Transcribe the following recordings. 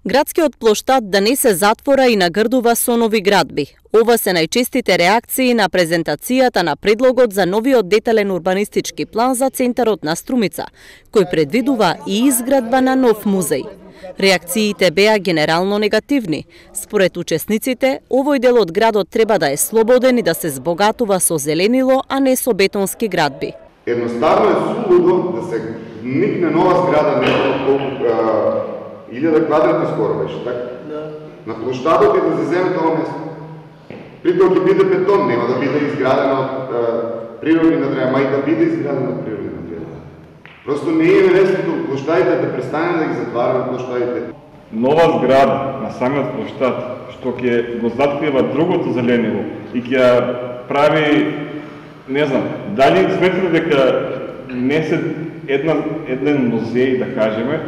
Градскиот плоштад да не се затвора и нагрдува со нови градби. Ова се најчестите реакции на презентацијата на предлогот за новиот детален урбанистички план за центарот на Струмица, кој предвидува и изградба на нов музеј. Реакциите беа генерално негативни. Според учесниците, овој дел од градот треба да е слободен и да се збогатува со зеленило, а не со бетонски градби. Едноставно е сулудо да се никне нова зграда, не колку 1000 квадрати скоро беше, така? Да. На площадот и да се земе тоа место. Притоа ќе биде бетон, нема да биде изградена од природни надреа, ма и да биде изградена од природни надреа. Просто не е лесно площадите да престане да ги затвараме площадите. Нова зграда на самиот площад, што ќе го заткрива другото зеленило и ќе прави, не знам, дали сметате дека не се еден музеј, да кажеме,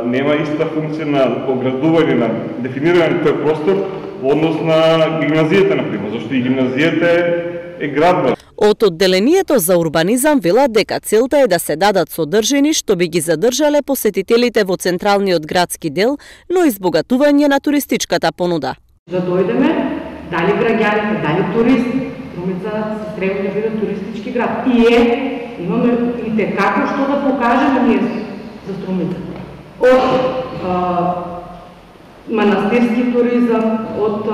нема иста функција на оградување, на дефинирање на тој простор во однос на гимназијата, например, зашто и гимназијата е градба. Од одделението за урбанизам велат дека целта е да се дадат содржини што би ги задржале посетителите во централниот градски дел, но и избогатување на туристичката понуда. Да дојдеме, дали граѓаните, дали туристи, Струмица се треба да биде туристички град. И имаме и текако што да покажеме ние за Струмица. Од манастирски туризам, од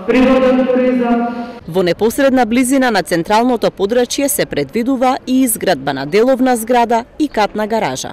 природен туризам. Во непосредна близина на централното подрачје се предвидува и изградба на деловна зграда и катна гаража.